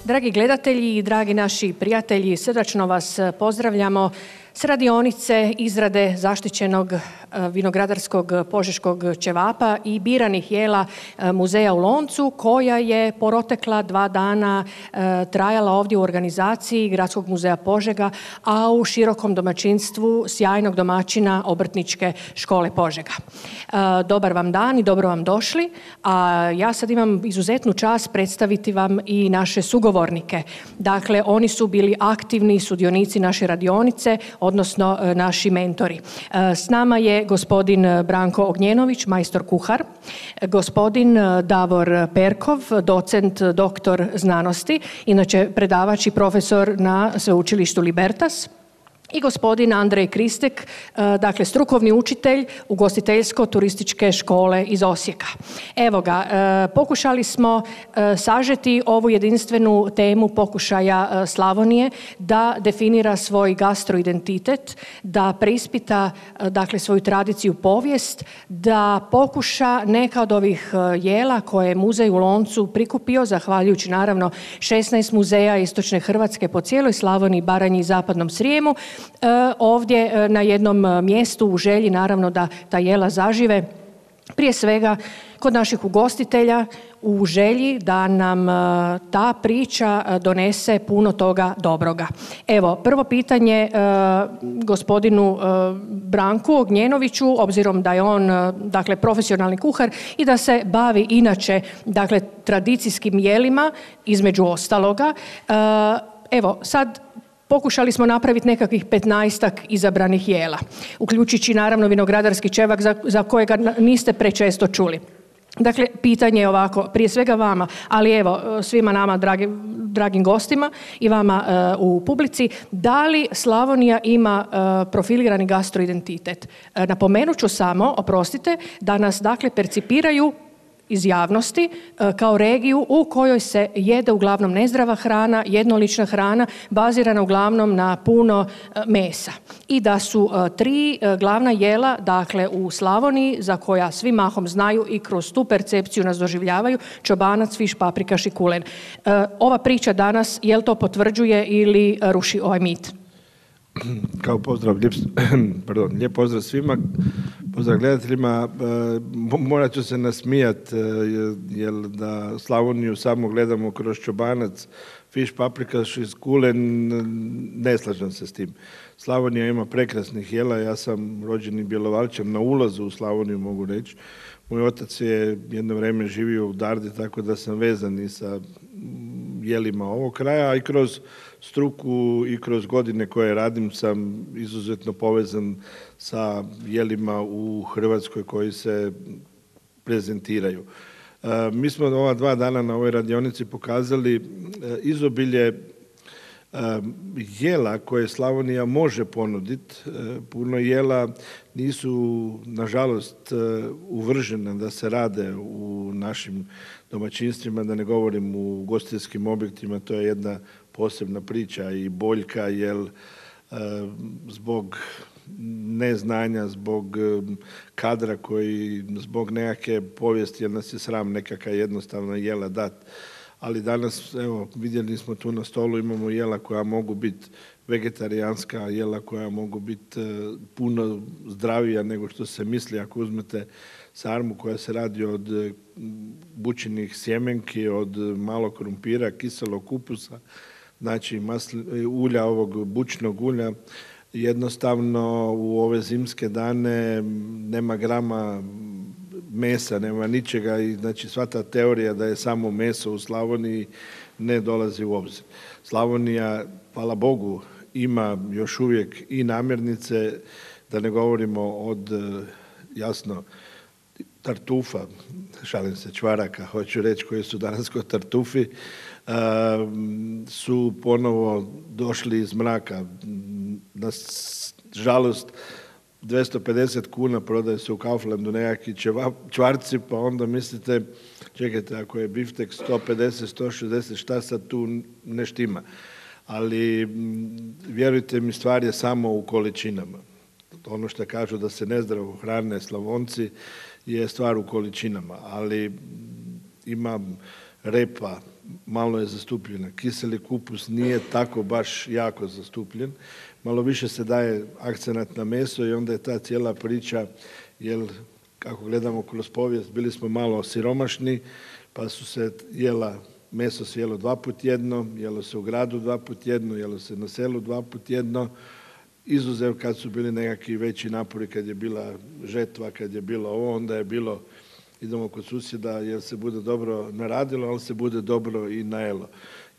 Dragi gledatelji i dragi naši prijatelji, srdačno vas pozdravljamo s radionice izrade zaštićenog vinogradarskog požeškog ćevapa i biranih jela muzeja u Loncu, koja je protekla 2 dana trajala ovdje u organizaciji Gradskog muzeja Požega, a u širokom domaćinstvu sjajnog domaćina Obrtničke škole Požega. Dobar vam dan i dobro vam došli, a ja sad imam izuzetnu čast predstaviti vam i naše sugovornike. Dakle, oni su bili aktivni sudionici naše radionice, odnosno naši mentori. S nama je gospodin Branko Ognjenović, majstor kuhar, gospodin Davor Perkov, docent, doktor znanosti, inače predavač i profesor na sveučilištu Libertas, i gospodin Andrej Kristek, dakle strukovni učitelj ugostiteljsko-turističke škole iz Osijeka. Evo ga, pokušali smo sažeti ovu jedinstvenu temu pokušaja Slavonije da definira svoj gastroidentitet, da preispita dakle svoju tradiciju, povijest, da pokuša neka od ovih jela koje je muzej u Loncu prikupio, zahvaljujući naravno 16 muzeja istočne Hrvatske po cijeloj Slavoniji, Baranji i zapadnom Srijemu, ovdje na jednom mjestu u želji naravno da ta jela zažive, prije svega kod naših ugostitelja, u želji da nam ta priča donese puno toga dobroga. Evo, prvo pitanje gospodinu Branku Ognjenoviću, obzirom da je on dakle profesionalni kuhar i da se bavi inače dakle tradicijskim jelima između ostaloga. Evo, sad pokušali smo napraviti nekakvih 15-ak izabranih jela, uključujući naravno vinogradarski ćevap za kojega niste prečesto čuli. Dakle, pitanje je ovako, prije svega vama, ali evo svima nama dragim gostima i vama u publici, da li Slavonija ima profilirani gastroidentitet? Napomenut ću samo, oprostite, da nas dakle percipiraju iz javnosti kao regiju u kojoj se jede uglavnom nezdrava hrana, jednolična hrana, bazirana uglavnom na puno mesa. I da su 3 glavna jela, dakle u Slavoniji, za koja svi mahom znaju i kroz tu percepciju nas doživljavaju, čobanac, fiš, paprikaš i kulen. Ova priča danas, jel to potvrđuje ili ruši ovaj mit? Kao pozdrav, lijep pozdrav svima, pozdrav gledateljima. Morat ću se nasmijati, jer da Slavoniju samo gledamo kroz čobanac, fiš, paprikaš i kulen, ne slažem se s tim. Slavonija ima prekrasnih jela, ja sam rođeni Bjelovarčan, na ulazu u Slavoniju mogu reći. Moj otac je jedno vrijeme živio u Dardi, tako da sam vezan i sa jelima ovog kraja, a i kroz struku i kroz godine koje radim sam izuzetno povezan sa jelima u Hrvatskoj koji se prezentiraju. Mi smo ova 2 dana na ovoj radionici pokazali izobilje jela koje Slavonija može ponuditi. Puno jela nisu, nažalost, uvržena da se rade u našim domaćinstvima, da ne govorim u ugostiteljskim objektima, to je jedna posebna priča i boljka, jer zbog neznanja, zbog kadra koji, zbog nekakve povijesti, jer nas je sram nekakva jednostavna jela dati. Ali danas, evo, vidjeli smo tu na stolu, imamo jela koja mogu biti vegetarijanska, jela koja mogu biti puno zdravija nego što se misli. Ako uzmete sarmu koja se radi od bućinih sjemenki, od malog krumpira, kiselog kupusa, znači ulja, ovog bućnog ulja, jednostavno u ove zimske dane nema grama mesa, nema ničega i znači sva ta teorija da je samo meso u Slavoniji ne dolazi u obzir. Slavonija, hvala Bogu, ima još uvijek i namirnice, da ne govorimo od, jasno, tartufa, šalim se, čvaraka, hoću reći, koji su danas kod tartufi, su ponovo došli iz mraka. Na žalost, 250 kuna prodaje se u Kauflandu nekakvi čvarci, pa onda mislite, čekajte, ako je biftek 150, 160, šta sad tu ne štima? Ali vjerujte mi, stvar je samo u količinama. Ono što kažu da se nezdravo hrane Slavonci je stvar u količinama, ali ima repa, malo je zastupljena. Kiseli kupus nije tako baš jako zastupljen. Malo više se daje akcenat na meso i onda je ta cijela priča, jer kako gledamo kroz povijest, bili smo malo siromašni, pa su se meso se jelo 2 puta tjedno, jelo se u gradu 2 puta tjedno, jelo se na selu 2 puta tjedno, izuzev kad su bili nekakvi veći napori, kad je bila žetva, kad je bilo ovo, onda je bilo idemo kod susjeda jer se bude dobro naradilo, ali se bude dobro i najelo.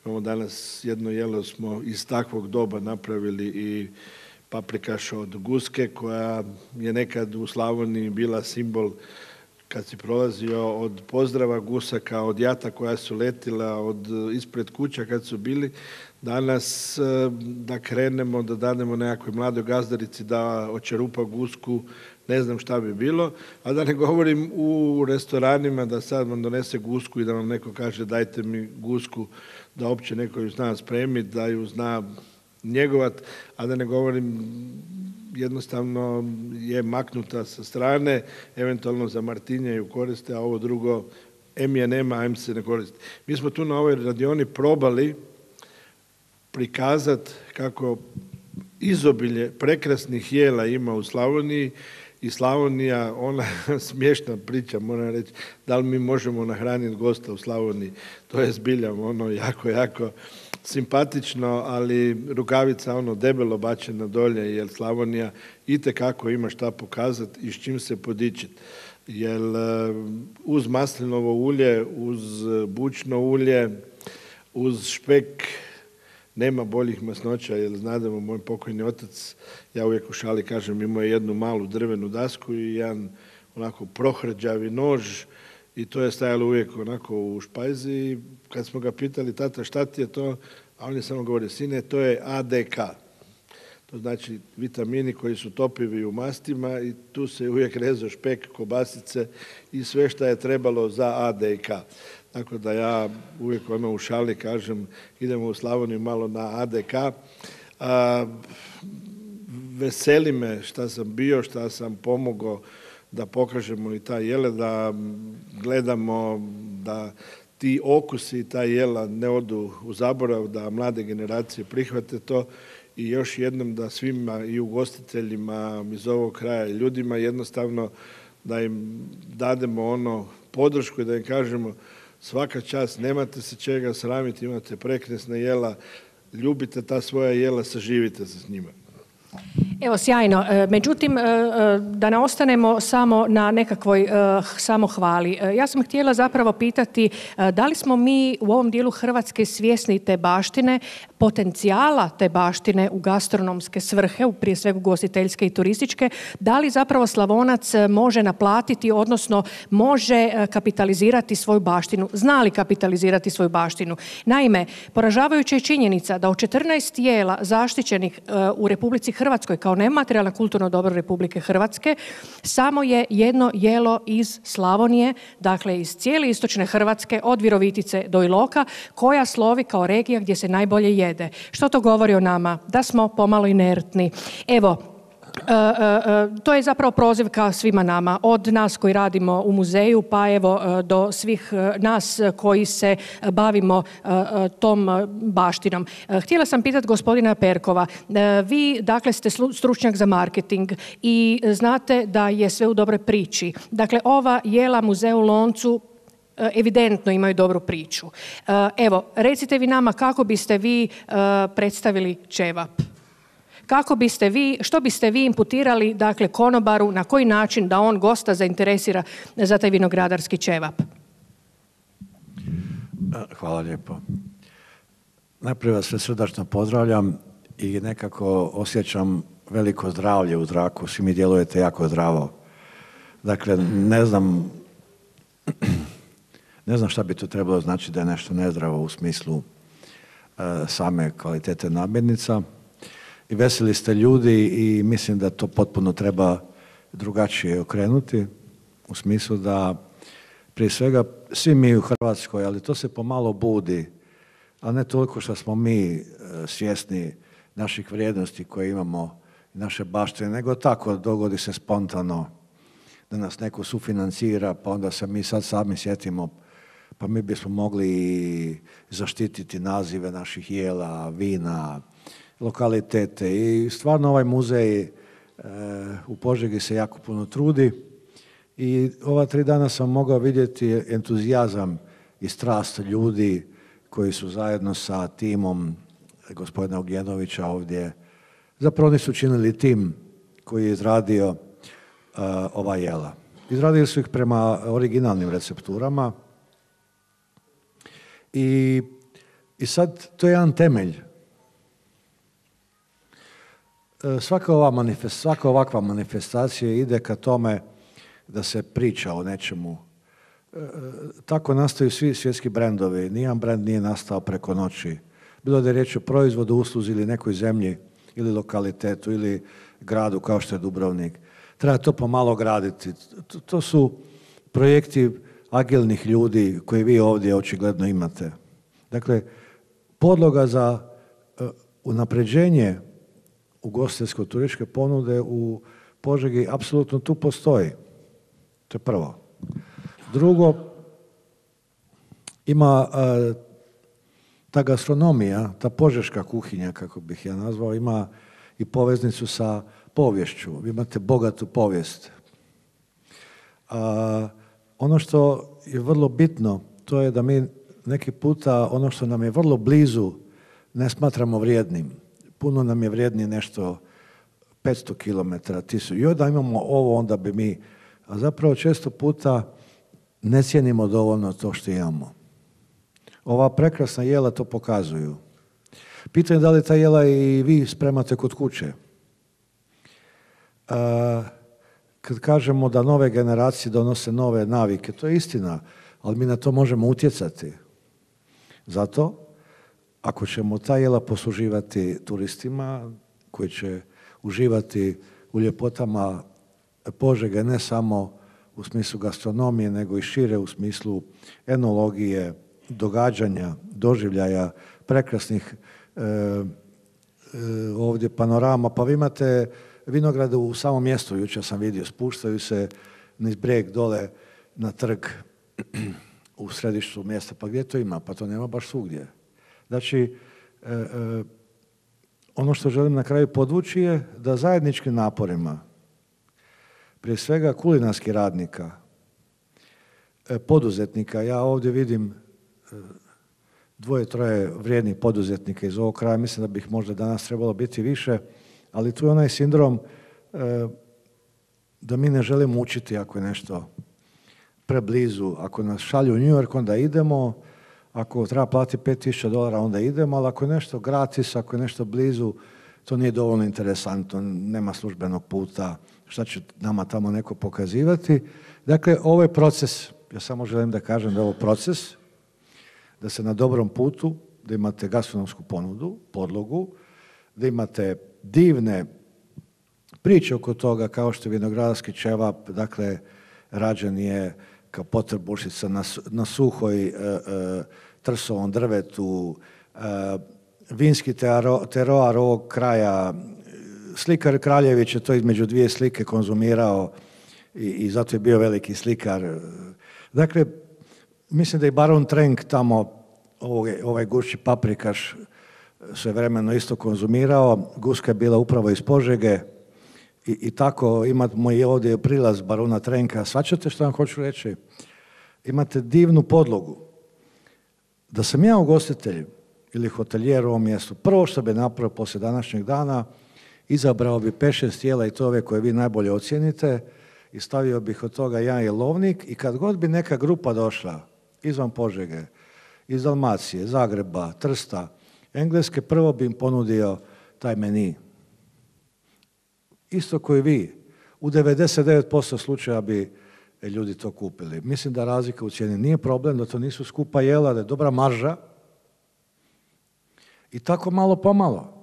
Imamo danas jedno jelo smo iz takvog doba napravili i paprikaš od guske koja je nekad u Slavoniji bila simbol kad si prolazio od pozdrava gusaka, od jata koja su letila, od ispred kuća kad su bili. Danas da krenemo, da dademo nekakvoj mladoj gazdarici da očerupa gusku, ne znam šta bi bilo, a da ne govorim u restoranima da sad vam donese gusku i da vam neko kaže dajte mi gusku, da uopće neko ju zna spremiti, da ju zna njegovat, a da ne govorim jednostavno je maknuta sa strane, eventualno za Martinje ju koriste, a ovo drugo em je nema, em se ne koristi. Mi smo tu na ovoj radioni probali prikazati kako izobilje prekrasnih jela ima u Slavoniji i Slavonija, ona smiješna priča, moram reći, da li mi možemo nahraniti gosta u Slavoniji. To je zbilja ono jako simpatično, ali rukavica ono debelo bačena dolje, jer Slavonija itekako ima šta pokazati i s čim se podičiti. Jer uz maslinovo ulje, uz bućno ulje, uz špek nema boljih masnoća, jer znademo, moj pokojni otac, ja uvijek u šali kažem, imao je jednu malu drvenu dasku i jedan onako prohrđavi nož i to je stajalo uvijek onako u špajzi i kad smo ga pitali, tata šta ti je to, a on je samo govorio, sine, to je ADK. To znači vitamini koji su topivi u mastima i tu se uvijek rezao špek, kobasice i sve što je trebalo za ADK. Tako da ja uvijek u šali kažem idemo u Slavoniju malo na ADK. Veseli me šta sam bio, šta sam pomogao da pokažemo i ta jela, da gledamo da ti okusi i ta jela ne odu u zaborav, da mlade generacije prihvate to i još jednom da svima i ugostiteljima iz ovog kraja i ljudima jednostavno da im dademo podršku i da im kažemo svaka čast, nemate se čega sramiti, imate prekrasna jela, ljubite ta svoja jela, saživite se s njima. Evo, sjajno. Međutim, da ne ostanemo samo na nekakvoj samohvali. Ja sam htjela zapravo pitati da li smo mi u ovom dijelu Hrvatske svjesni te baštine, potencijala te baštine u gastronomske svrhe, prije svega ugostiteljske i turističke, da li zapravo Slavonac može naplatiti, odnosno može kapitalizirati svoju baštinu, zna li kapitalizirati svoju baštinu. Naime, poražavajuća je činjenica da od 14 jela zaštićenih u Republici Hrvatskoj kao nematerijalno kulturno dobro Republike Hrvatske, samo je jedno jelo iz Slavonije, dakle iz cijele istočne Hrvatske, od Virovitice do Iloka, koja slovi kao regija gdje se najbolje jede. Što to govori o nama? Da smo pomalo inertni. Evo, to je zapravo prozivka svima nama, od nas koji radimo u muzeju pa evo do svih nas koji se bavimo tom baštinom. Htjela sam pitati gospodina Perkova, vi dakle ste stručnjak za marketing i znate da je sve u dobroj priči. Dakle, ova jela Muzej u Loncu evidentno imaju dobru priču. Evo, recite vi nama kako biste vi predstavili ćevap. Što biste vi imputirali, dakle, konobaru, na koji način da on gosta zainteresira za taj vinogradarski ćevap? Hvala lijepo. Najprije vas sve srdačno pozdravljam i nekako osjećam veliko zdravlje u zraku. Svi mi djelujete jako zdravo. Dakle, ne znam šta bi to trebalo znači da je nešto nezdravo u smislu same kvalitete namirnica. I veseli ste ljudi i mislim da to potpuno treba drugačije okrenuti u smislu da prije svega svi mi u Hrvatskoj, ali to se pomalo budi, a ne toliko što smo mi svjesni naših vrijednosti koje imamo, naše baštine, nego tako dogodi se spontano da nas neko sufinancira, pa onda se mi sad sami sjetimo, pa mi bismo mogli zaštititi nazive naših jela, vina, lokalitete. I stvarno ovaj muzej u Požegi se jako puno trudi i ova 3 dana sam mogao vidjeti entuzijazam i strast ljudi koji su zajedno sa timom gospodina Ugjenovića ovdje. Zapravo oni su činili tim koji je izradio ova jela. Izradili su ih prema originalnim recepturama i sad to je jedan temelj. Svaka ovakva manifestacija ide ka tome da se priča o nečemu. Tako nastaju svi svjetski brendovi. Nijedan brend nije nastao preko noći. Bilo da je riječ o proizvodu, usluzi ili nekoj zemlji ili lokalitetu ili gradu kao što je Dubrovnik. Treba to pomalo graditi. To su projekti agilnih ljudi koje vi ovdje očigledno imate. Dakle, podloga za unapređenje ugostiteljsko-turističke ponude u Požegi apsolutno tu postoji. To je prvo. Drugo, ima ta gastronomija, ta požeška kuhinja, kako bih ja nazvao, ima i poveznicu sa poviješću. Vi imate bogatu povijest. Ono što je vrlo bitno, to je da mi neki puta ono što nam je vrlo blizu ne smatramo vrijednim. Puno nam je vrijednije nešto 500 km, 1000. I onda imamo ovo, onda bi mi... A zapravo često puta ne cijenimo dovoljno to što imamo. Ova prekrasna jela to pokazuju. Pitanje da li ta jela i vi spremate kod kuće. Kad kažemo da nove generacije donose nove navike, to je istina, ali mi na to možemo utjecati. Zato, ako ćemo ta jela posluživati turistima koji će uživati u ljepotama Požege, ne samo u smislu gastronomije, nego i šire u smislu enologije, događanja, doživljaja, prekrasnih ovdje panorama. Pa vi imate vinograde u samom mjestu, jučer sam vidio, spuštaju se niz brijeg dole na trg u središtu mjesta. Pa gdje to ima? Pa to nema baš svugdje. Znači, ono što želim na kraju podvući je da zajedničkim naporima, prije svega kulinarskih radnika, poduzetnika, ja ovdje vidim 2-3 vrijednih poduzetnika iz ovog kraja, mislim da bi ih možda danas trebalo biti više, ali tu je onaj sindrom da mi ne želimo učiti ako je nešto preblizu. Ako nas šalju u New York, onda idemo, ako treba platiti $5,000, onda idemo, ali ako je nešto gratis, ako je nešto blizu, to nije dovoljno interesantno, nema službenog puta, šta će nama tamo neko pokazivati. Dakle, ovo je proces, ja samo želim da kažem da je ovo proces, da ste na dobrom putu, da imate gastronomsku ponudu, podlogu, da imate divne priče oko toga, kao što je vinogradarski ćevap, dakle, rađen je kao potrbušica na suhoj trsovom drvetu, vinski teroar ovog kraja. Slikar Kraljević je to između 2 slike konzumirao i zato je bio veliki slikar. Dakle, mislim da je Baron Trenk tamo, ovaj gušći paprikaš, svevremeno isto konzumirao. Guska je bila upravo iz Požege i tako imamo i ovdje prilaz Barona Trenka. Shvaćate što vam hoću reći? imate divnu podlogu. Da sam ja ugostitelj ili hotelijer u ovom mjestu, prvo što bi napravio poslije današnjeg dana, izabrao bi 5-6 tijela i to ove koje vi najbolje ocijenite i stavio bih od toga jedan jelovnik i kad god bi neka grupa došla izvan Požege, iz Dalmacije, Zagreba, Trsta, Engleske, prvo bi im ponudio taj meni. Isto koji vi. U 99% slučaja bi ljudi to kupili. Mislim da razlika u cijeni nije problem, da to nisu skupa jela, da je dobra marža. I tako malo pomalo.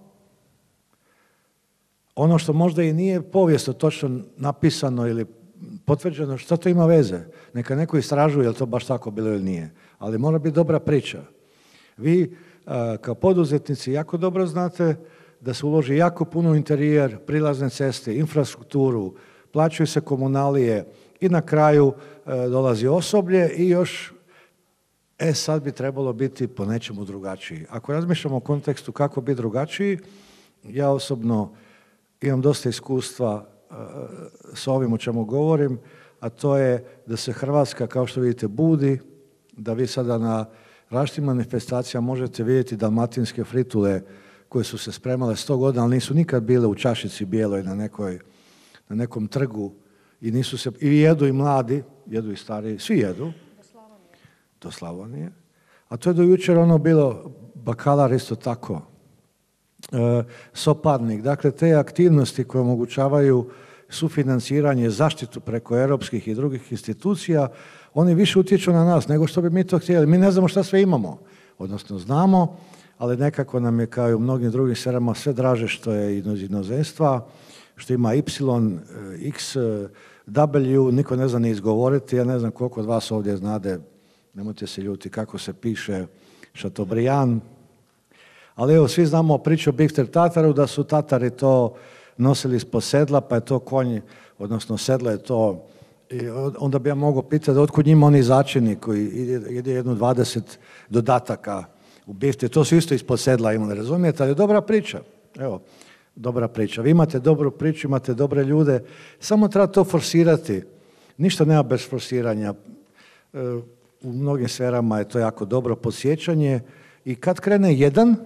Ono što možda i nije povijesno točno napisano ili potvrđeno, što to ima veze? Neka neko istražuje je li to baš tako bilo ili nije. Ali mora biti dobra priča. Vi kao poduzetnici jako dobro znate da se uloži jako puno u interijer, prilazne ceste, infrastrukturu, plaćaju se komunalije i na kraju dolazi osoblje i još sad bi trebalo biti po nečemu drugačiji. Ako razmišljamo o kontekstu kako biti drugačiji, ja osobno imam dosta iskustva s ovim o čemu govorim, a to je da se Hrvatska, kao što vidite, budi, da vi sada na različitim manifestacijama možete vidjeti dalmatinske fritule koje su se spremale 100 godina, ali nisu nikad bile u čašici bijeloj na nekom trgu i nisu se, i jedu i mladi, jedu i stariji, svi jedu. Do Slavonije. A to je do jučer ono bilo bakalar isto tako. Soparnik. Dakle, te aktivnosti koje omogućavaju sufinanciranje, zaštitu preko europskih i drugih institucija, oni više utječu na nas nego što bi mi to htjeli. Mi ne znamo šta sve imamo. Odnosno znamo, ali nekako nam je kao i u mnogim drugim sferama sve draže što je iz inozemstva, što ima Y, X, W, niko ne zna ni izgovoriti, ja ne znam koliko od vas ovdje znade, nemojte se ljuti kako se piše Chateaubriand, ali evo svi znamo priču o Bifter Tataru, da su Tatari to nosili ispod sedla, pa je to konj, odnosno sedlo je to, i onda bi ja mogao pitati otkud njima oni začini koji ide jedno 20 dodataka u bifte, to su isto ispod sedla imali, razumijete, ali je dobra priča, evo. Dobra priča. Vi imate dobru priču, imate dobre ljude, samo treba to forsirati. Ništa nema bez forsiranja. U mnogim sferama je to jako dobro podsjećanje i kad krene jedan,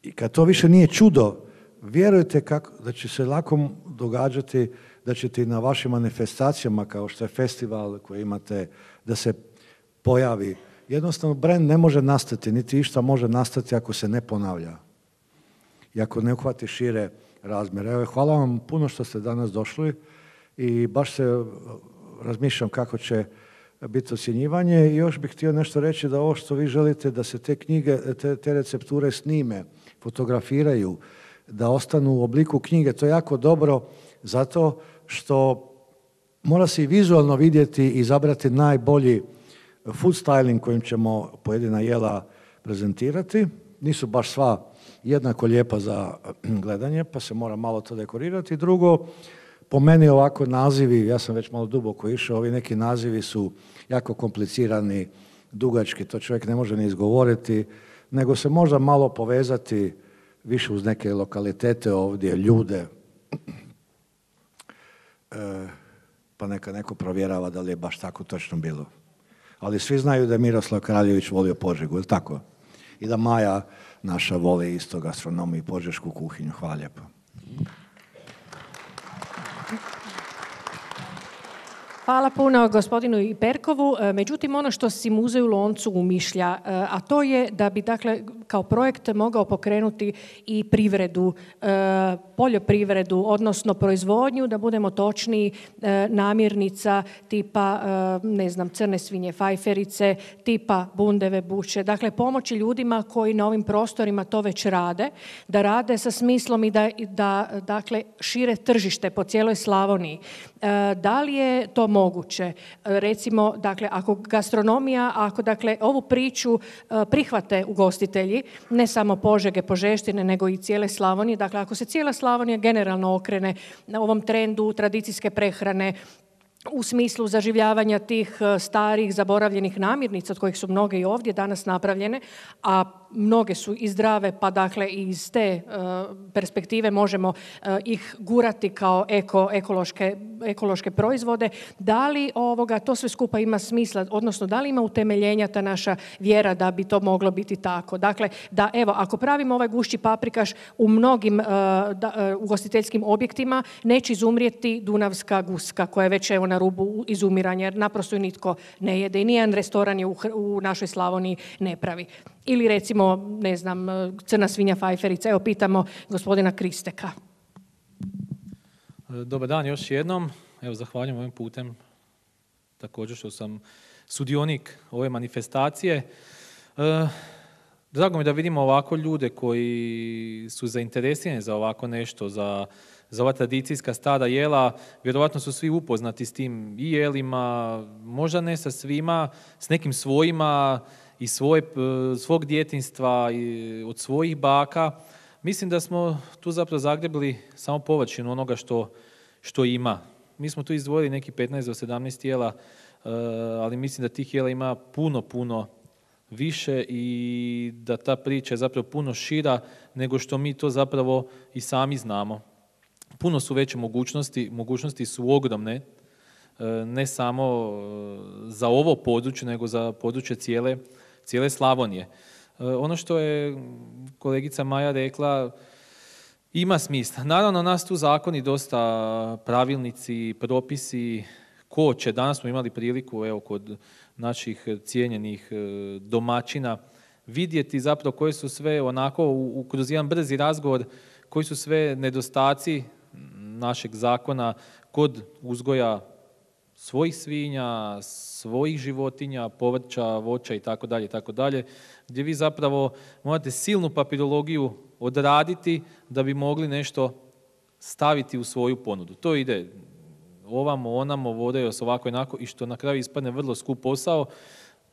i kad to više nije čudo, vjerujte da će se lako događati da ćete i na vašim manifestacijama, kao što je festival koji imate, da se pojavi. Jednostavno, brand ne može nastati, niti išta može nastati ako se ne ponavlja i ako ne uhvati šire razmjere. Evo, hvala vam puno što ste danas došli i baš se razmišljam kako će biti ocjenjivanje i još bih htio nešto reći da ovo što vi želite da se te knjige, te recepture snime, fotografiraju, da ostanu u obliku knjige, to je jako dobro zato što mora se i vizualno vidjeti i izabrati najbolji food styling kojim ćemo pojedina jela prezentirati. Nisu baš sva jednako lijepa za gledanje, pa se mora malo to dekorirati. Drugo, po meni ovako nazivi, ja sam već malo duboko išao, ovi neki nazivi su jako komplicirani, dugački, to čovjek ne može ni izgovoriti, nego se možda malo povezati više uz neke lokalitete ovdje, ljude, pa neka neko provjerava da li je baš tako točno bilo. Ali svi znaju da je Miroslav Kraljević volio Požegu, je li tako? I da Maja naša voli isto gastronomiju i požešku kuhinju. Hvala lijepo. Hvala puno gospodinu Iperkovu. Međutim, ono što si Muzej u Loncu umišlja, a to je da bi dakle, kao projekt mogao pokrenuti i privredu, poljoprivredu, odnosno proizvodnju, da budemo točniji, namirnica tipa, ne znam, crne svinje, fajferice, tipa bundeve, buće. Dakle, pomoći ljudima koji na ovim prostorima to već rade, da rade sa smislom i da dakle, šire tržište po cijeloj Slavoniji. Da li je to moguće? Recimo, dakle, ako gastronomija, ako dakle, ovu priču prihvate ugostitelji, ne samo Požege, Požeštine, nego i cijele Slavonije, dakle, ako se cijela Slavonija generalno okrene na ovom trendu tradicijske prehrane, u smislu zaživljavanja tih starih, zaboravljenih namirnica, od kojih su mnoge i ovdje danas napravljene, a mnoge su i zdrave, pa dakle i iz te perspektive možemo ih gurati kao ekološke proizvode. Da li to sve skupa ima smisla, odnosno da li ima utemeljenja ta naša vjera da bi to moglo biti tako? Dakle, da evo, ako pravimo ovaj gušći paprikaš u mnogim ugostiteljskim objektima, neće izumrijeti dunavska guska koja je već evo na rubu izumiranja, jer naprosto ju nitko ne jede i nijedan restoran je u našoj Slavoniji ne pravi. Ili recimo, ne znam, crna svinja fajferica. Evo, pitamo gospodina Kristeka. Dobar dan još jednom. Evo, zahvaljujem ovim putem također što sam sudionik ove manifestacije. Drago mi da vidimo ovako ljude koji su zainteresirani za ovako nešto, za ova tradicijska stara jela. Vjerovatno su svi upoznati s tim i jelima, možda ne sa svima, s nekim svojima, iz svog djetinjstva, od svojih baka. Mislim da smo tu zapravo zagrebili samo površinu onoga što ima. Mi smo tu izdvojili neki 15 do 17 jela, ali mislim da tih jela ima puno više i da ta priča je zapravo puno šira nego što mi to zapravo i sami znamo. Puno su veće mogućnosti su ogromne, ne samo za ovo područje, nego za područje cijele Slavonije. Ono što je kolegica Maja rekla, ima smisla. Naravno, nas tu zakoni dosta, pravilnici, propisi, koče. Danas smo imali priliku, evo, kod naših cijenjenih domaćina, vidjeti zapravo koje su sve onako, kroz jedan brzi razgovor, koji su sve nedostaci našeg zakona kod uzgoja svojih svinja, svojih životinja, povrća, voća itd., gdje vi zapravo morate silnu papirologiju odraditi da bi mogli nešto staviti u svoju ponudu. To ide ovamo, onamo, vodaju se ovako i onako i što na kraju ispadne vrlo skup posao,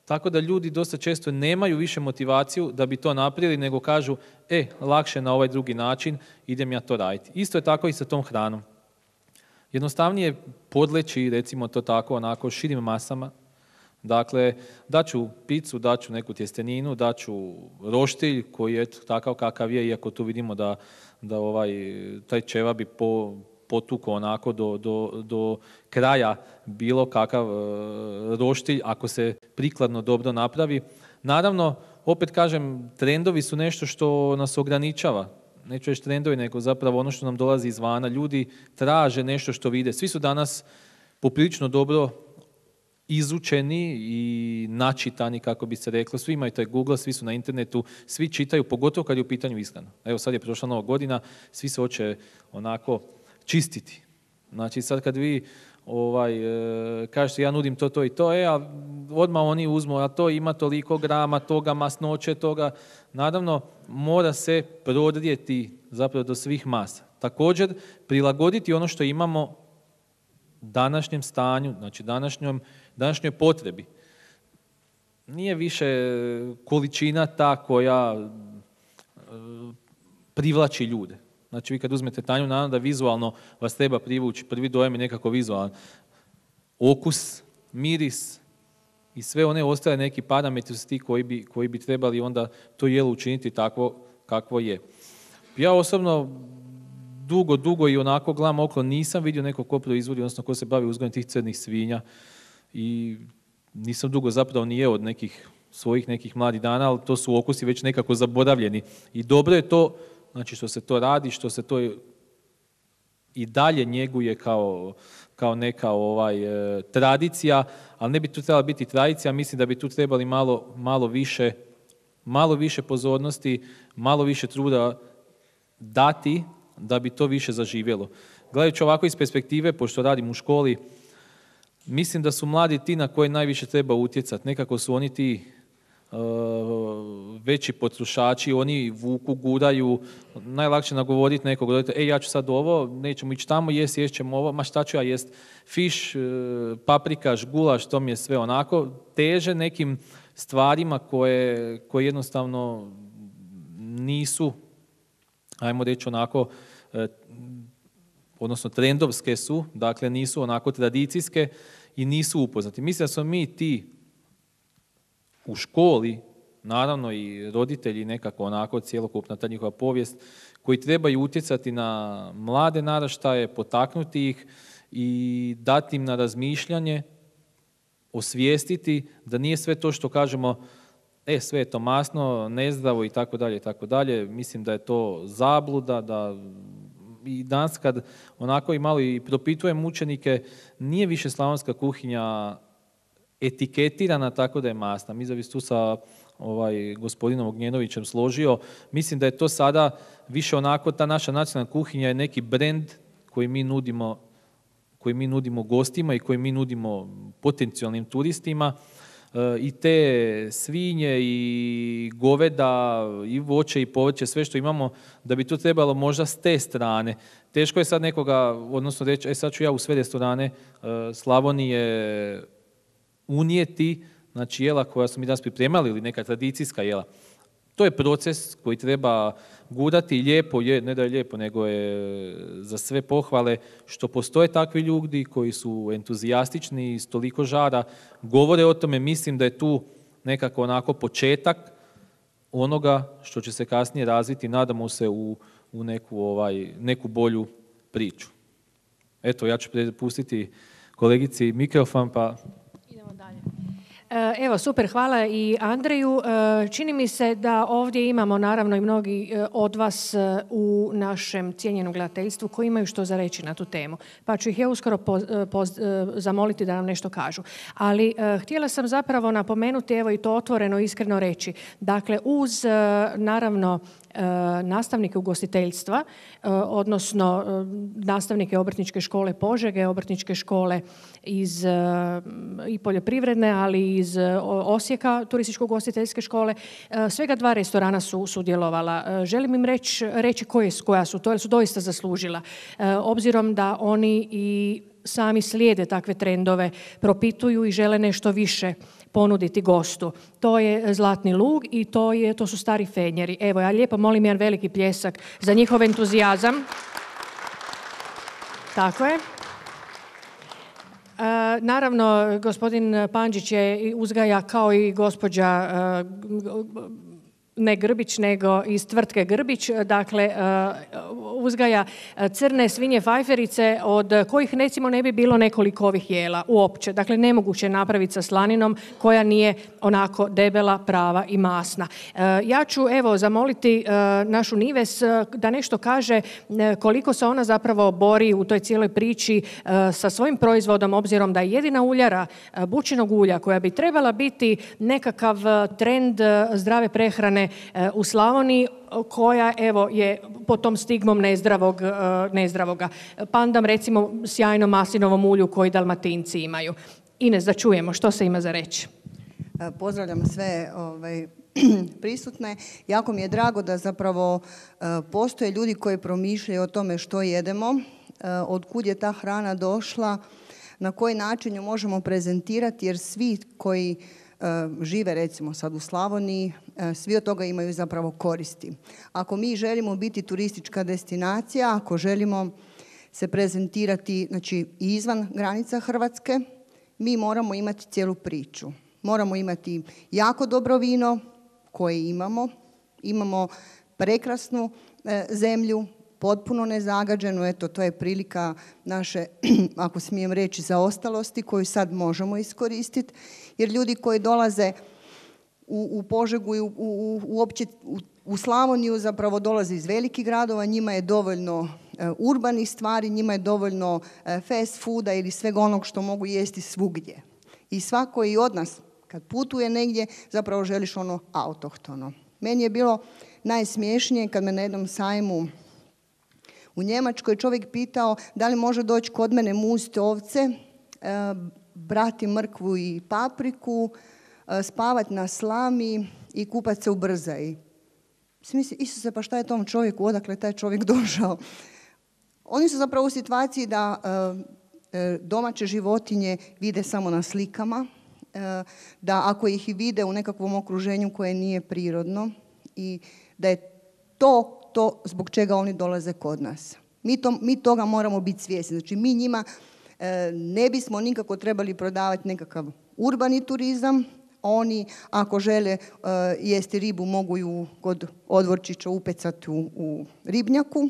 tako da ljudi dosta često nemaju više motivaciju da bi to napravili, nego kažu, lakše na ovaj drugi način, idem ja to raditi. Isto je tako i sa tom hranom. Jednostavnije podleći, recimo to tako, onako širim masama. Dakle, daću picu, daću neku tjesteninu, daću roštilj koji je takav kakav je, iako tu vidimo da taj ćevap bi potuko onako do kraja bilo kakav roštilj ako se prikladno dobro napravi. Naravno, opet kažem, trendovi su nešto što nas ograničava. Neću reći trendovi, nego zapravo ono što nam dolazi izvana. Ljudi traže nešto što vide. Svi su danas poprilično dobro izučeni i načitani, kako bi se reklo. Svi imaju taj Google, svi su na internetu, svi čitaju, pogotovo kad je u pitanju ishrana. Evo, sad je prošla Nova godina, svi se hoće onako čistiti. Znači, sad kad vi kažete ja nudim to i to, a odmah oni uzmu, a to ima toliko grama, toga masnoće, toga. Naravno, mora se prodrijeti zapravo do svih masa. Također, prilagoditi ono što imamo današnjem stanju, znači današnjoj potrebi. Nije više količina ta koja privlači ljude. Znači, vi kad uzmete tanju, naravno da vizualno vas treba privući, prvi dojam je nekako vizualan. Okus, miris i sve one ostale neki parametri su ti koji bi trebali onda to jelo učiniti takvo kakvo je. Ja osobno dugo i onako gledam okolo, nisam vidio nekog ko proizvodi, odnosno ko se bavi uzgojem tih crnih svinja i nisam dugo zapravo ni jeo od nekih svojih nekih mladih dana, ali to su okusi već nekako zaboravljeni. I dobro je to, znači što se to radi, što se to i dalje njeguje kao neka tradicija, ali ne bi tu trebala biti tradicija, mislim da bi tu trebali malo više pozornosti, malo više truda dati da bi to više zaživjelo. Gledajući ovako iz perspektive, pošto radim u školi, mislim da su mladi ti na koje najviše treba utjecati. Nekako su oni ti veći potrošači, oni vuku, guraju, najlakše nagovoriti nekog roditelja, ja ću sad ovo, nećemo ići tamo, jest ćemo ovo, ma šta ću ja jest, fiš, paprikaš, gulaš, to mi je sve onako, teže nekim stvarima koje jednostavno nisu, ajmo reći onako, odnosno trendovske su, dakle nisu onako tradicijske i nisu upoznati. Mislim da smo mi ti u školi, naravno i roditelji nekako onako cjelokupna ta njihova povijest, koji trebaju utjecati na mlade naraštaje, potaknuti ih i dati im na razmišljanje, osvijestiti da nije sve to što kažemo sve je to masno, nezdravo i tako dalje i tako dalje. Mislim da je to zabluda, da i danas kad onako i malo i propitujem učenike, nije više slavonska kuhinja etiketirana tako da je masna. Mi bi se tu sa gospodinom Ognjenovićem složio. Mislim da je to sada više onako, ta naša nacionalna kuhinja je neki brend koji mi nudimo gostima i koji mi nudimo potencijalnim turistima. I te svinje i goveda i voće i povrće, sve što imamo, da bi to trebalo možda s te strane. Teško je sad nekoga, odnosno reći, sad ću ja u sve restorane Slavonije unijeti, znači jela koja smo mi danas pripremali ili neka tradicijska jela. To je proces koji treba gurati, lijepo je, ne da je lijepo, nego je za sve pohvale što postoje takvi ljudi koji su entuzijastični i s toliko žara govore o tome. Mislim da je tu nekako onako početak onoga što će se kasnije razviti, nadamo se u neku bolju priču. Eto, ja ću prepustiti kolegici mikrofon, pa... Idemo dalje. Evo, super, hvala i Andreju. Čini mi se da ovdje imamo naravno i mnogi od vas u našem cijenjenom gledateljstvu koji imaju što za reći na tu temu. Pa ću ih ja uskoro zamoliti da nam nešto kažu. Ali htjela sam zapravo napomenuti, evo i to otvoreno, iskreno reći. Dakle, uz naravno nastavnike ugostiteljstva, odnosno nastavnike Obrtničke škole Požege, Obrtničke škole iz i poljoprivredne, ali iz Osijeka, turističko-ugostiteljske škole. Svega 2 restorana su sudjelovala. Želim im reći koja su to, jer su doista zaslužila. Obzirom da oni i sami slijede takve trendove, propituju i žele nešto više ponuditi gostu. To je Zlatni lug i to su Stari Fenjeri. Evo, ja lijepo molim jedan veliki pljesak za njihov entuzijazam. Tako je. Naravno, gospodin Pandžić je uzgaja kao i gospođa ne Grbić, nego iz tvrtke Grbić, dakle uzgaja crne svinje fajferice od kojih recimo ne bi bilo nekoliko ovih jela uopće. Dakle, nemoguće je napraviti sa slaninom koja nije onako debela, prava i masna. Ja ću evo zamoliti našu Nives da nešto kaže koliko se ona zapravo bori u toj cijeloj priči sa svojim proizvodom, obzirom da je jedina uljara bućinog ulja koja bi trebala biti nekakav trend zdrave prehrane u Slavoniji, koja evo je pod tom stigmom nezdravoga. Pandam recimo sjajnom maslinovom ulju koji Dalmatinci imaju. Ines, da čujemo što se ima za reći. Pozdravljam sve prisutne. Jako mi je drago da zapravo postoje ljudi koji promišljaju o tome što jedemo, od kud je ta hrana došla, na koji način ju možemo prezentirati, jer svi koji žive recimo sad u Slavoniji, svi od toga imaju zapravo koristi. Ako mi želimo biti turistička destinacija, ako želimo se prezentirati znači, izvan granica Hrvatske, mi moramo imati cijelu priču. Moramo imati jako dobro vino koje imamo prekrasnu zemlju, potpuno nezagađenu, eto to je prilika naše, ako smijem reći, zaostalosti koju sad možemo iskoristiti, jer ljudi koji dolaze u Požegu i uopće u Slavoniju zapravo dolaze iz velikih gradova, njima je dovoljno urbanih stvari, njima je dovoljno fast fooda ili svega onog što mogu jesti svugdje. I svako i od nas kad putuje negdje zapravo želiš ono autohtono. Meni je bilo najsmiješnije kad me na jednom sajmu u Njemačkoj čovjek pitao da li može doći kod mene muziti ovce, brati mrkvu i papriku, spavati na slami i kupati se u brzaji. Mislim, Isuse, pa šta je tom čovjeku, odakle taj čovjek došao? Oni su zapravo u situaciji da domaće životinje vide samo na slikama, da ako ih i vide u nekakvom okruženju koje nije prirodno i da je to zbog čega oni dolaze kod nas. Mi toga moramo biti svjesni. Znači mi njima ne bismo nikako trebali prodavati nekakav urbani turizam. Oni ako žele jesti ribu mogu ju kod odvorčića upecati u ribnjaku,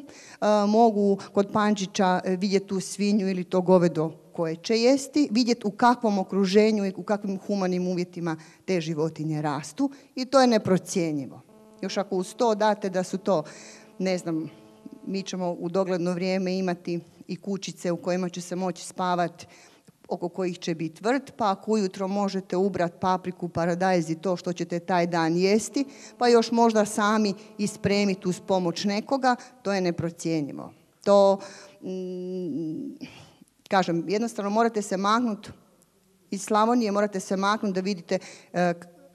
mogu kod Pančića vidjeti tu svinju ili to govedo koje će jesti, vidjeti u kakvom okruženju i u kakvim humanim uvjetima te životinje rastu i to je neprocjenjivo. Još ako uz to date da su to, ne znam, mi ćemo u dogledno vrijeme imati i kućice u kojima će se moći spavati, oko kojih će biti vrt, pa ako ujutro možete ubrati papriku, paradajz i to što ćete taj dan jesti, pa još možda sami ispremiti uz pomoć nekoga, to je neprocjenjivo. To, kažem, jednostavno morate se maknuti iz Slavonije, morate se maknuti da vidite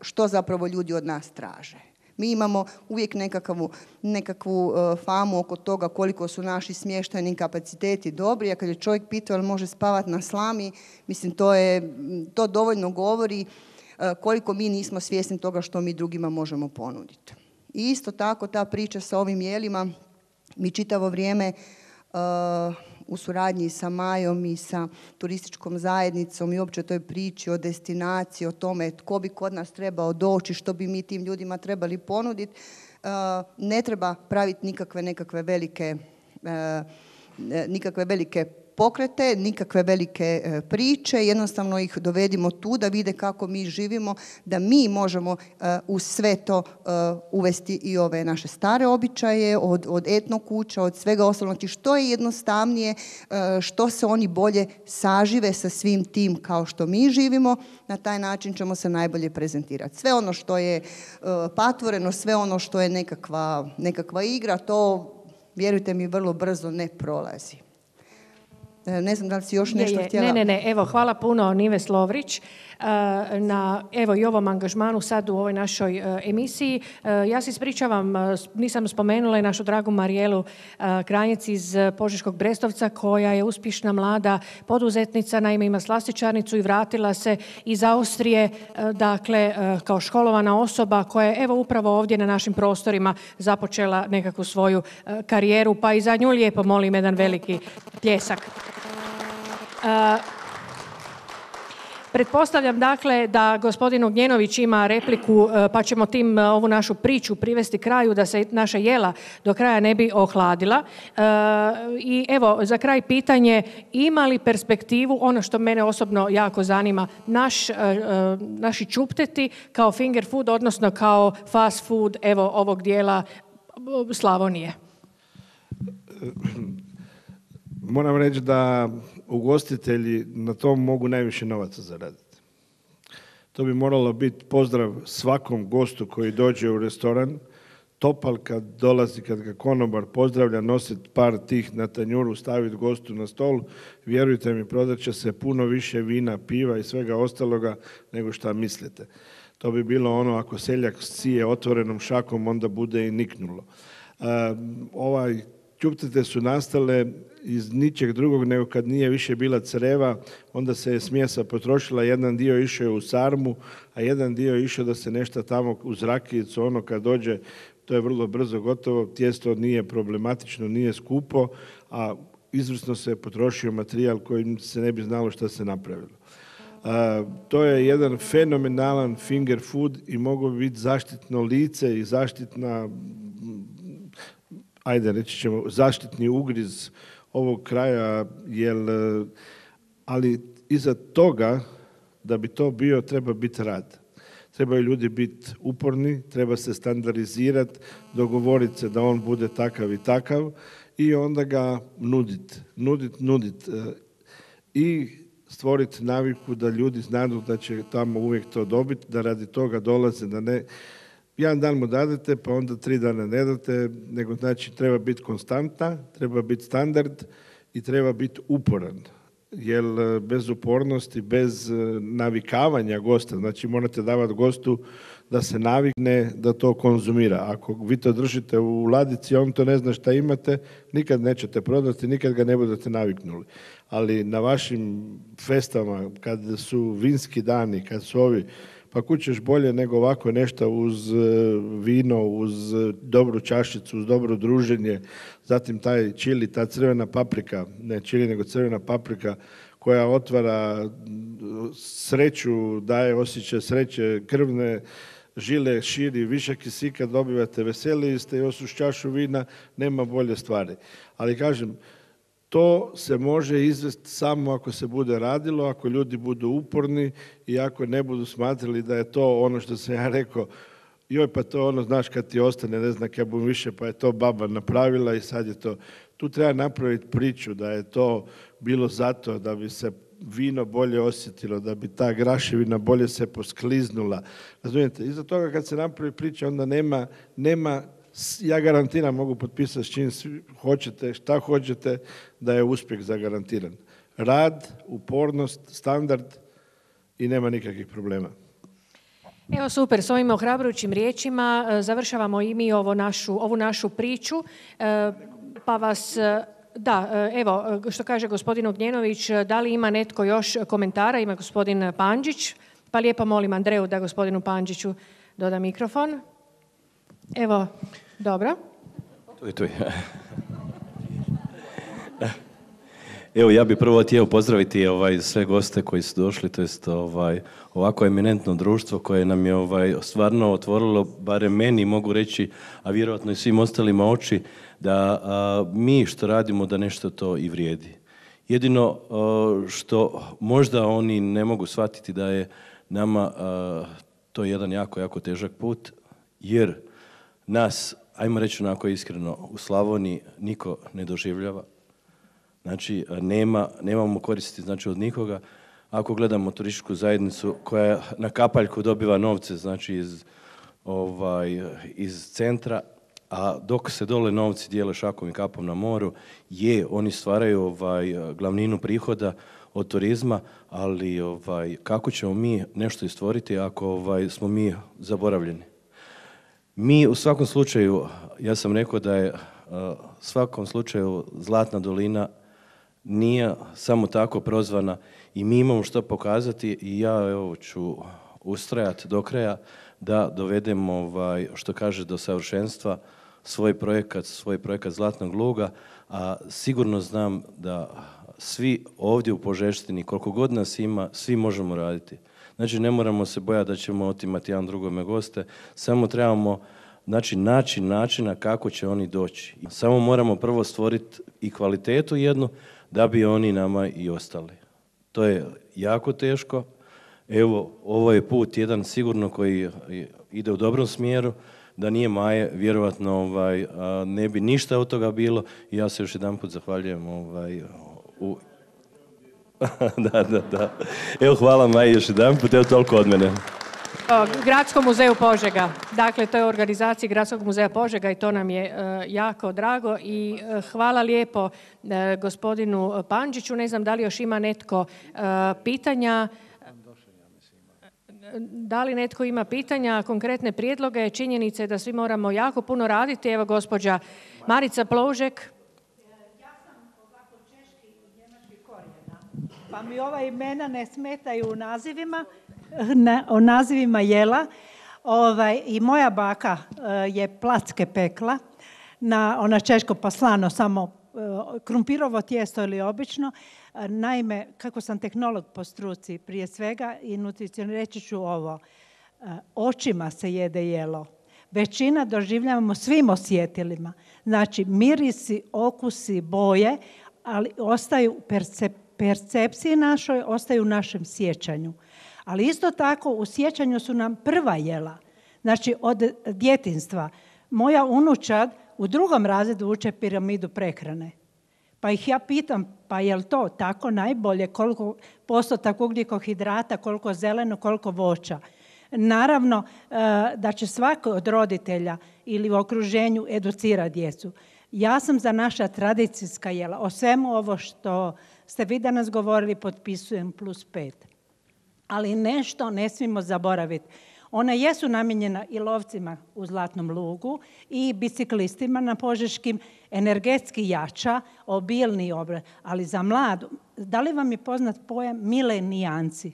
što zapravo ljudi od nas traže. Mi imamo uvijek nekakvu famu oko toga koliko su naši smještajni kapaciteti dobri, a kad je čovjek pitao ali može spavati na slami, mislim to dovoljno govori koliko mi nismo svjesni toga što mi drugima možemo ponuditi. I isto tako ta priča sa ovim jelima, mi čitavo vrijeme u suradnji sa Majom i sa turističkom zajednicom i uopće toj priči o destinaciji, o tome tko bi kod nas trebao doći, što bi mi tim ljudima trebali ponuditi, ne treba praviti nikakve velike pokrete, nikakve velike priče, jednostavno ih dovedimo tu da vide kako mi živimo, da mi možemo uz sve to uvesti i ove naše stare običaje, od etno kuća, od svega ostalog. Znači što je jednostavnije, što se oni bolje sažive sa svim tim kao što mi živimo, na taj način ćemo se najbolje prezentirati. Sve ono što je patvoreno, sve ono što je nekakva igra, to, vjerujte mi, vrlo brzo ne prolazi. Ne znam da li si još nešto htjela... Ne. Evo, hvala puno Nives Lovrić na evo i ovom angažmanu sad u ovoj našoj emisiji. Ja se ispričavam, nisam spomenula i našu dragu Marijelu Kranjec iz Požeškog Brestovca koja je uspješna mlada poduzetnica, naime ima slastičarnicu i vratila se iz Austrije, dakle kao školovana osoba koja je evo upravo ovdje na našim prostorima započela nekakvu svoju karijeru, pa i za nju lijepo molim jedan veliki pljesak. Pretpostavljam dakle da gospodin Ugnjenović ima repliku pa ćemo tim ovu našu priču privesti kraju da se naša jela do kraja ne bi ohladila. I evo za kraj pitanje, ima li perspektivu, ono što mene osobno jako zanima, naši čupteti kao finger food, odnosno kao fast food evo ovog dijela Slavonije? Moram reći da ugostitelji na tom mogu najviše novaca zaraditi. To bi moralo biti pozdrav svakom gostu koji dođe u restoran, topal kad dolazi, kad ga konobar pozdravlja, nositi par tih na tanjuru, staviti gostu na stol, vjerujte mi, prodat će se puno više vina, piva i svega ostaloga nego šta mislite. To bi bilo ono, ako seljak sije otvorenom šakom, onda bude i niknulo. Čuptete su nastale iz ničeg drugog nego kad nije više bila creva, onda se je smjesa potrošila, jedan dio išao je u sarmu, a jedan dio je išao da se nešto tamo uz rakijicu, ono kad dođe, to je vrlo brzo gotovo, tijesto nije problematično, nije skupo, a izvrsno se potrošio materijal kojim se ne bi znalo šta se napravilo. To je jedan fenomenalan finger food i mogu biti zaštitno lice i zaštitna, ajde reći ćemo, zaštitni ugriz ovog kraja, ali iza toga, da bi to bio, treba biti rad. Trebaju ljudi biti uporni, treba se standardizirati, dogovoriti se da on bude takav i takav i onda ga nuditi. I stvoriti naviku da ljudi znaju da će tamo uvijek to dobiti, da radi toga dolaze, da ne... Jedan dan mu dadete, pa onda 3 dana ne date, nego znači treba biti konstantna, treba biti standard i treba biti uporan. Jer bez upornosti, bez navikavanja gosta, znači morate davati gostu da se navikne da to konzumira. Ako vi to držite u ladici, on to ne zna šta imate, nikad nećete prodati, nikad ga ne budete naviknuli. Ali na vašim festama, kad su vinski dani, kad su ovi, pa kud ćeš bolje nego ovako nešto uz vino, uz dobru čašicu, uz dobro druženje, zatim taj čili, ta crvena paprika, ne čili nego crvena paprika koja otvara sreću, daje osjećaj sreće, krvne žile širi, više kisika dobivate, veseliji ste, još uz čašu vina, nema bolje stvari. Ali kažem, to se može izvesti samo ako se bude radilo, ako ljudi budu uporni i ako ne budu smatrali da je to ono što sam ja rekao, joj pa to ono, znaš kad ti ostane, ne znam kad budem više, pa je to baba napravila i sad je to. Tu treba napraviti priču da je to bilo zato da bi se vino bolje osjetilo, da bi ta graševina bolje se poskliznula. Razumijete, iza toga kad se napravi priča, onda nema, ja garantiram, mogu potpisati s čim hoćete, šta hoćete, da je uspjeh zagarantiran. Rad, upornost, standard i nema nikakvih problema. Evo super, s ovim ohrabrujućim riječima završavamo i mi ovu našu priču, pa vas... Da, evo, što kaže gospodin Ognjenović, da li ima netko još komentara? Ima gospodin Pandžić, pa lijepo molim Andreju da gospodinu Pandžiću doda mikrofon. Evo, dobro. Tu je. Evo, ja bih prvo htio pozdraviti sve goste koji su došli, to jest ovako eminentno društvo koje nam je stvarno otvorilo, barem meni mogu reći, a vjerojatno i svim ostalima oči, da mi što radimo da nešto to i vrijedi. Jedino što možda oni ne mogu shvatiti da je nama to jedan jako, jako težak put, jer nas, ajmo reći onako iskreno, u Slavoniji niko ne doživljava. Znači, nemamo koristi znači, od nikoga. Ako gledamo turističku zajednicu koja na kapaljku dobiva novce znači, iz centra, a dok se dole novci dijele šakom i kapom na moru, oni stvaraju glavninu prihoda od turizma, ali kako ćemo mi nešto istvoriti ako smo mi zaboravljeni? Mi u svakom slučaju, ja sam rekao da je u svakom slučaju Zlatna dolina nije samo tako prozvana i mi imamo što pokazati i ja ću ustrajati do kraja da dovedemo, što kaže, do savršenstva svoj projekat Zlatnog luga, a sigurno znam da svi ovdje u Požeštini, koliko god nas ima, svi možemo raditi. Znači, ne moramo se bojati da ćemo otimati jedan drugome goste, samo trebamo naći načina kako će oni doći. Samo moramo prvo stvoriti i kvalitetu jednu, da bi oni nama i ostali. To je jako teško. Evo, ovo je put jedan sigurno koji ide u dobrom smjeru. Da nije Maje, vjerovatno ne bi ništa od toga bilo. I ja se još jedanput zahvaljujem. Da. Evo, hvala Maji još jedanput. Evo, toliko od mene. Gradskom muzeju Požega. Dakle, to je u organizaciji Gradskog muzeja Požega i to nam je jako drago. I hvala lijepo gospodinu Pandžiću. Ne znam da li još ima netko pitanja. Da li netko ima pitanja, konkretne prijedloge, činjenice da svi moramo jako puno raditi? Evo gospođa Marica Ploužek. Ja sam ovako češki i njemački korijena, pa mi ova imena ne smetaju u nazivima, o nazivima jela. I moja baka je placke pekla na ona češko pa slano, samo krumpirovo tijesto ili obično. Naime, kako sam tehnolog po struci prije svega i nutricionist, reći ću ovo. Očima se jede jelo. Većina doživljavamo svim osjetilima. Znači, mirisi, okusi, boje, ali ostaju percepciji našoj, ostaju u našem sjećanju. Ali isto tako u sjećanju su nam prva jela. Znači, od djetinjstva. Moja unučad u 2. razredu uče piramidu prehrane. Pa ih ja pitam, pa je li to tako najbolje, koliko postotak ugljikohidrata, koliko zeleno, koliko voća. Naravno da će svako od roditelja ili u okruženju educirati djecu. Ja sam za naša tradicijska jela. O svemu ovo što ste vi danas govorili potpisujem +5. Ali nešto ne smijemo zaboraviti. Ona jesu namijenjena i lovcima u Zlatnom lugu i biciklistima na Požeškim, energetski jača, obilni obrat, ali za mladu. Da li vam je poznat pojam milenijanci?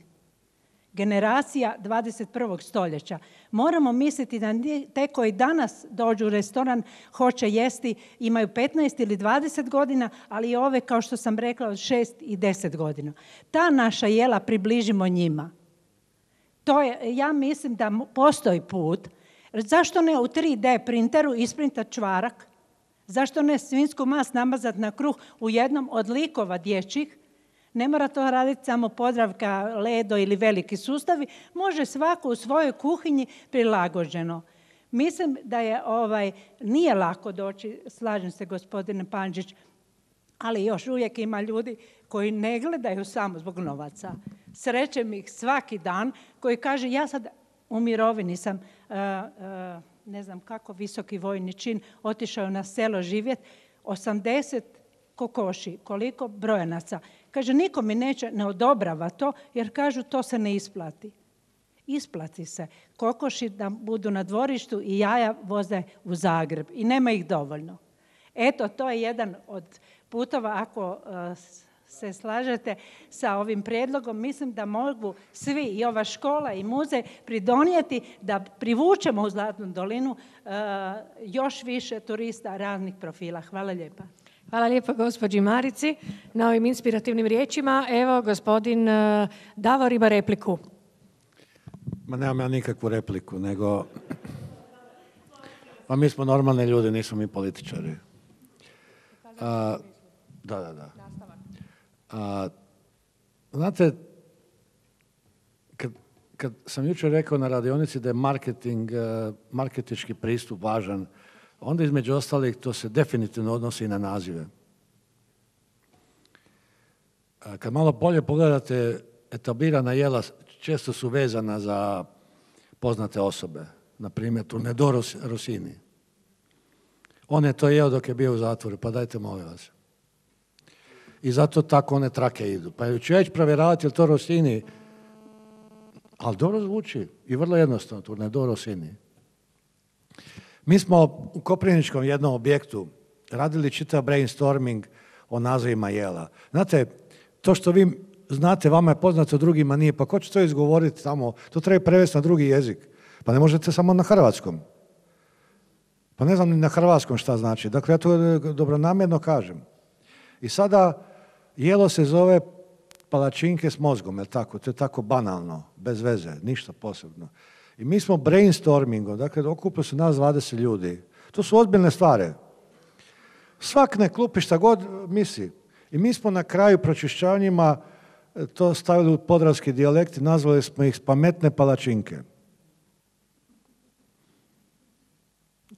generacija 21. stoljeća. Moramo misliti da te koji danas dođu u restoran, hoće jesti, imaju 15 ili 20 godina, ali i ove, kao što sam rekla, od 6 i 10 godina. Ta naša jela približimo njima. Ja mislim da postoji put. Zašto ne u 3D printeru isprintati čvarak? Zašto ne svinjsku mast namazati na kruh u jednom od likova dječjih? Ne mora to raditi samo Podravka, Ledo ili veliki sustavi. Može svako u svojoj kuhinji prilagođeno. Mislim da nije lako doći, slažem se gospodine Pandžić, ali još uvijek ima ljudi koji ne gledaju samo zbog novaca. Srećem ih svaki dan koji kaže ja sad u mirovini sam, ne znam kako visoki vojni čin, otišao na selo živjeti, 80 kokoši, koliko brojanaca. Kaže, niko mi ne odobrava to, jer kažu to se ne isplati. Isplati se. Kokoši da budu na dvorištu i jaja voze u Zagreb i nema ih dovoljno. Eto, to je jedan od putova, ako se slažete sa ovim prijedlogom, mislim da mogu svi, i ova škola i muzej, pridonijeti da privučemo u Zlatnu dolinu još više turista raznih profila. Hvala lijepa. Hvala lijepo gospođi Marici na ovim inspirativnim riječima. Evo, gospodin Davor ima repliku. Ma nemam ja nikakvu repliku, nego... Pa mi smo normalni ljudi, nismo mi političari. Da. Znate, kad sam jučer rekao na radionici da je marketinški pristup važan, onda između ostalih to se definitivno odnosi i na nazive. Kad malo bolje pogledate, etablirana jela često su vezana za poznate osobe. Na primjer, Turnedoro Rossini. On je to jeo dok je bio u zatvoru, pa dajte molim vas. I zato tako one trake idu. Pa ću ja ići provjeravati je li to Rossini, ali dobro zvuči i vrlo jednostavno, Turnedoro Rossini. Mi smo u Koprivničkom jednom objektu radili čitav brainstorming o nazivima jela. Znate, to što vi znate, vama je poznato, drugima nije, pa ko će to izgovoriti tamo? To treba prevesti na drugi jezik. Pa ne možete samo na hrvatskom. Pa ne znam ni na hrvatskom šta znači. Dakle, ja to dobronamjerno kažem. I sada jelo se zove palačinke s mozgom, je tako? To je tako banalno, bez veze, ništa posebno. I mi smo brainstormingom, dakle, okupilo se nas 20 ljudi. To su ozbiljne stvari. Svak ne klupi šta god misli. I mi smo na kraju pročišćavanjima to stavili u podravski dijalekt i nazvali smo ih pametne palačinke.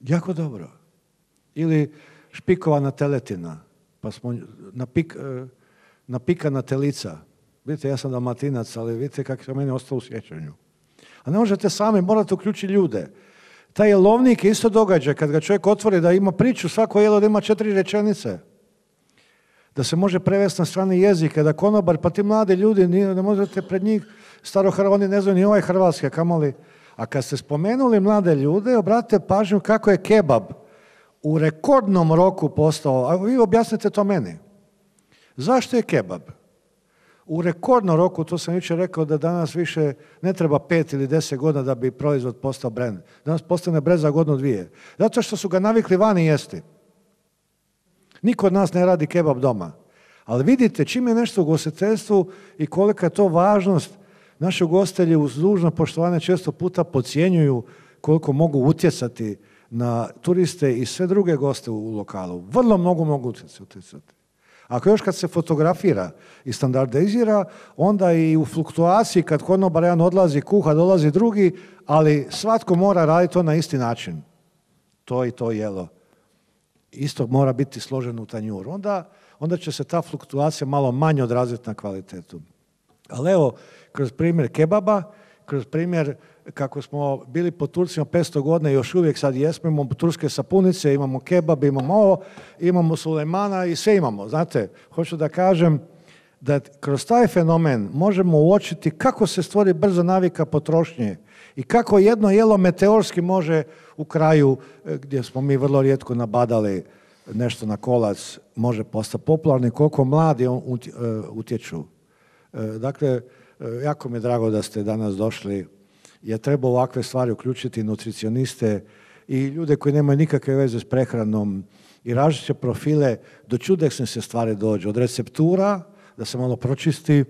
Jako dobro. Ili špikovana teletina, pa smo napikana telica. Vidite, ja sam Dalmatinac, ali vidite kako je meni ostalo u sjećanju. A ne možete sami, morate uključiti ljude. Taj jelovnik je isto događaj, kad ga čovjek otvori da ima priču, svako jelo da ima 4 rečenice. Da se može prevesti na strani jezika, da konobar, pa ti mladi ljudi, ne možete pred njih, oni ne znaju ni ovaj hrvatske, kamoli. A kad ste spomenuli mlade ljude, obratite pažnju kako je kebab u rekordnom roku postao, a vi objasnite to meni. Zašto je kebab u rekordnom roku, to sam jučer rekao da danas više ne treba 5 ili 10 godina da bi proizvod postao brend. Danas postane brend za godinu, 2. Zato što su ga navikli vani jesti. Niko od nas ne radi kebab doma. Ali vidite, čim je nešto u ugostiteljstvu i kolika je to važnost, naši ugostitelji uz dužno poštovanje često puta podcjenjuju koliko mogu utjecati na turiste i sve druge goste u lokalu. Vrlo mnogo mogu utjecati. Ako još kad se fotografira i standardizira, onda i u fluktuaciji kad konobar jedan odlazi kuha, dolazi drugi, ali svatko mora raditi to na isti način. To i to jelo. Isto mora biti složeno u tanjuru. Onda će se ta fluktuacija malo manje odraziti na kvalitetu. Ali evo, kroz primjer kebaba, kroz primjer kako smo bili po Turcima 500 godina i još uvijek sad jesmo, imamo turske sapunice, imamo kebab, imamo ovo, imamo Sulejmana i sve imamo. Znate, hoću da kažem da kroz taj fenomen možemo uočiti kako se stvori brza navika potrošnje i kako jedno jelo meteorski može u kraju, gdje smo mi vrlo rijetko nabadali nešto na kolac, može postati popularno i koliko mladi utječu. Dakle, Jako mi je drago da ste danas došli, jer treba ovakve stvari uključiti nutricioniste i ljude koji nemaju nikakve veze s prehranom i različite profile, do čudesne se stvari dođu. Od receptura, da se malo pročisti,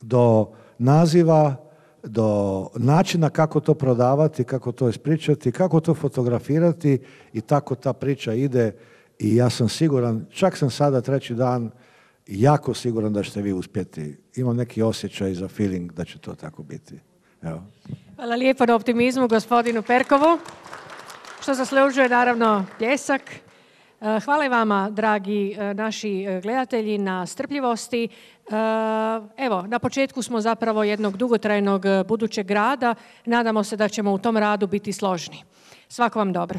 do naziva, do načina kako to prodavati, kako to ispričati, kako to fotografirati i tako ta priča ide. I ja sam siguran, čak sam sada 3. dan, jako siguran da ćete vi uspjeti. Imam neki osjećaj za feeling da će to tako biti. Evo. Hvala lijepo na optimizmu gospodinu Perkovu, što zaslužuje naravno pljesak. Hvala i vama, dragi naši gledatelji, na strpljivosti. Evo, na početku smo zapravo jednog dugotrajnog budućeg rada. Nadamo se da ćemo u tom radu biti složni. Svako vam dobro.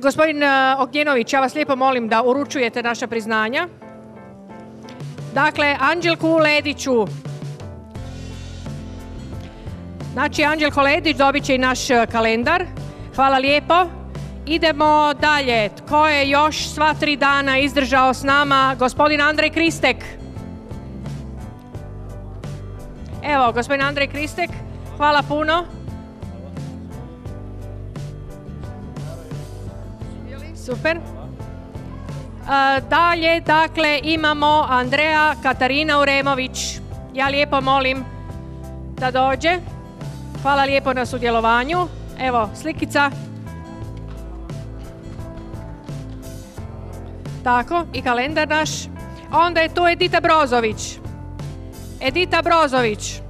Gospodin Ognjenović, ja vas lijepo molim da uručujete naša priznanja. Dakle, Anđelku Lediću. Znači, Anđelko Ledić dobit će i naš kalendar. Hvala lijepo. Idemo dalje. Tko je još sva 3 dana izdržao s nama? Gospodin Andrej Kristek. Evo, gospodin Andrej Kristek. Hvala puno. Super. Dalje, dakle, imamo Andreja Katarina Uremović. Ja lijepo molim da dođe. Hvala lijepo na sudjelovanju. Evo, slikica. Tako, i kalendar naš. Onda je tu Edita Brozović. Edita Brozović.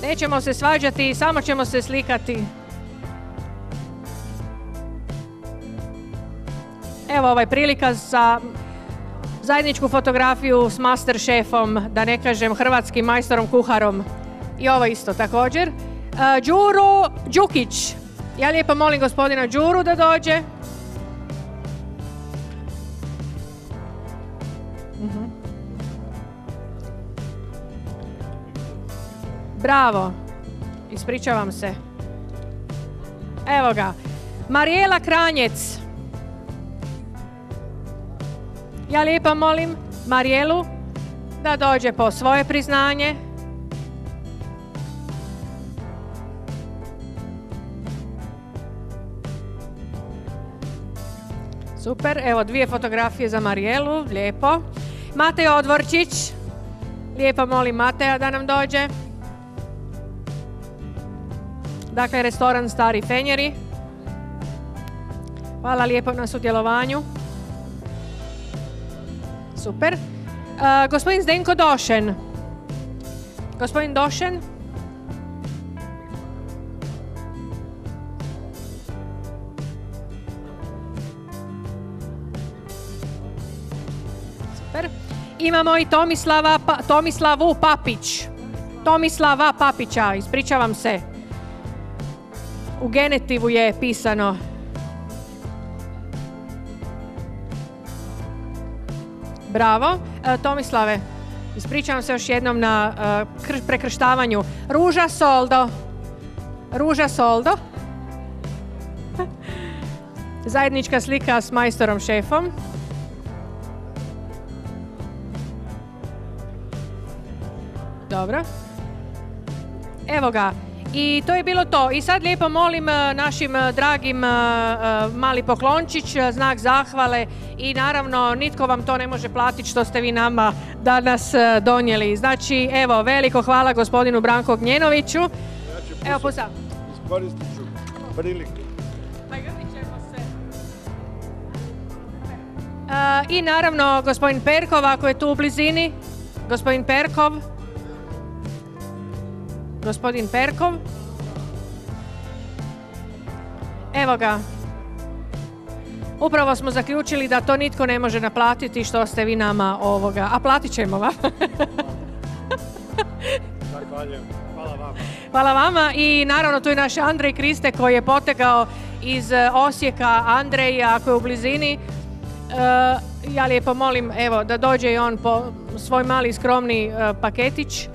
Nećemo se svađati, samo ćemo se slikati. Evo ovaj prilika za zajedničku fotografiju s master šefom, da ne kažem hrvatskim majstorom kuharom. I ovo isto također. Đuro Đukić. Ja lijepo molim gospodina Đuru da dođe. Bravo. Ispričavam se. Evo ga. Marijela Kranjec. Ja lijepo molim Marijelu da dođe po svoje priznanje. Super, evo 2 fotografije za Marijelu, lijepo. Matej Odvorčić, lijepo molim Mateja da nam dođe. Dakle, restoran Stari Fenjeri. Hvala lijepo na sudjelovanju. Super. Gospodin Zdenko Došen. Gospodin Došen. Super. Imamo i Tomislavu Papić. Tomislava Papića, ispričavam se. U genitivu je pisano. Bravo. Tomislave, ispričavam se još jednom na prekrštavanju. Ruža Soldo. Ruža Soldo. Zajednička slika s majstorom šefom. Dobro. Evo ga. I to je bilo to. I sad lijepo molim našim dragim mali poklončić, znak zahvale i naravno nitko vam to ne može platiti što ste vi nama danas donijeli. Znači, evo, veliko hvala gospodinu Branku Ognjenoviću. Evo, pusa. Iskoristit ću priliku. Pa grdit ćemo se. I naravno gospodin Perkov, ako je tu u blizini. Gospodin Perkov. Gospodin Perkov. Evo ga. Upravo smo zaključili da to nitko ne može naplatiti što ste vi nama ovoga. A platit ćemo vam. Zahvaljujem. Hvala vama. Hvala vama i naravno tu je naš Andrej Kriste koji je potegao iz Osijeka. Andrej, ako je u blizini, ja lijepo molim evo, da dođe i on po svoj mali skromni paketić.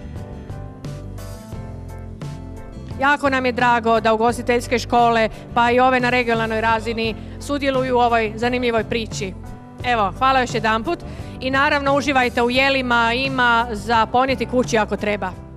Jako nam je drago da ugostiteljske škole, pa i ove na regionalnoj razini, sudjeluju u ovoj zanimljivoj priči. Evo, hvala još jedanput i naravno uživajte u jelima, ima za ponijeti kući ako treba.